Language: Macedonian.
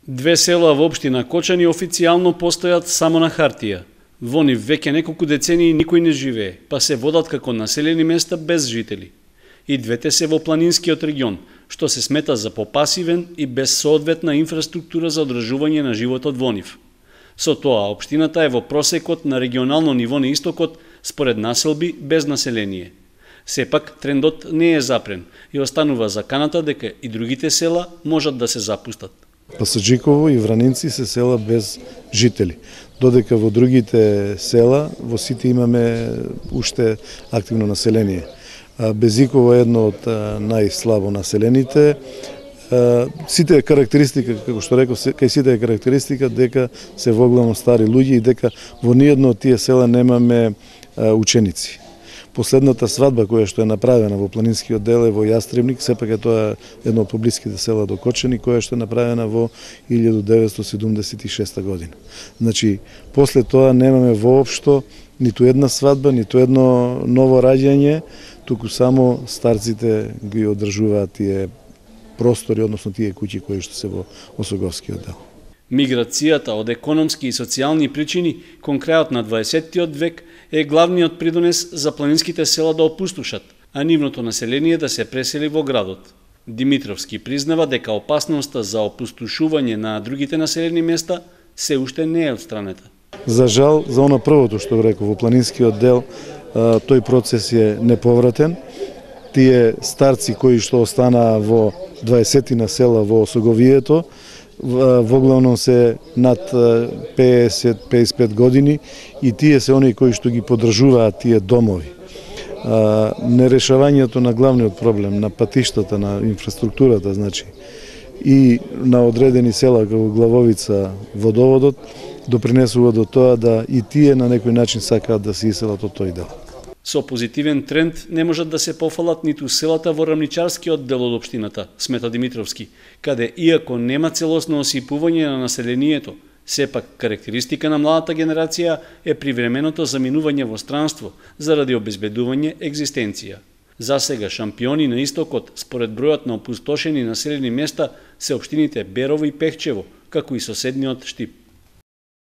Две села во општина Кочани официјално постојат само на хартија. Во нив веќе неколку децении никој не живее, па се водат како населени места без жители. И двете се во планинскиот регион, што се смета за попасивен и без соодветна инфраструктура за одржување на животот во нив. Со тоа, општината е во просекот на регионално ниво на истокот според населби без население. Сепак, трендот не е запрен и останува заканата дека и другите села можат да се запустат. Пасаджиково и Вранинци се села без жители, додека во другите села, во сите имаме уште активно население. Безиково е едно од најслабо населените. Сите е карактеристика, како што реков, кај сите е карактеристика дека се воглавно стари луѓе и дека во ниедно од тие села немаме ученици. Последната свадба која што е направена во планинскиот дел е во Јастребник, сепак е тоа едно од поблиските села до Кочани, која што е направена во 1976 година. Значи, после тоа немаме воопшто ниту една свадба, ниту едно ново раѓање, туку само старците ги одржуваат тие простори, односно тие куќи кои што се во Осоговскиот дел. Миграцијата од економски и социјални причини кон крајот на 20-тиот век е главниот придонес за планинските села да опустошат, а нивното население да се пресели во градот. Димитровски признава дека опасноста за опустошување на другите населени места се уште не е отстранета. За жал, за она првото што го реков, во планинскиот дел тој процес е неповратен. Тие старци кои што останаа во 20 села во Осоговието, воглавно се над 50-55 години и тие се оние кои што ги поддржуваат тие домови. Нерешавањето на главниот проблем, на патиштата, на инфраструктурата, значи, и на одредени села како Главовица, водоводот, допринесува до тоа да и тие на некој начин сакаат да се иселат од тој дел. Со позитивен тренд не можат да се пофалат ниту селата во рамничарскиот дел од општината, смета Димитровски, каде иако нема целосно осипување на населението, сепак карактеристика на младата генерација е привременото заминување во странство заради обезбедување екзистенција. За сега шампиони на истокот според бројот на опустошени населени места се општините Берово и Пехчево, како и соседниот Штип.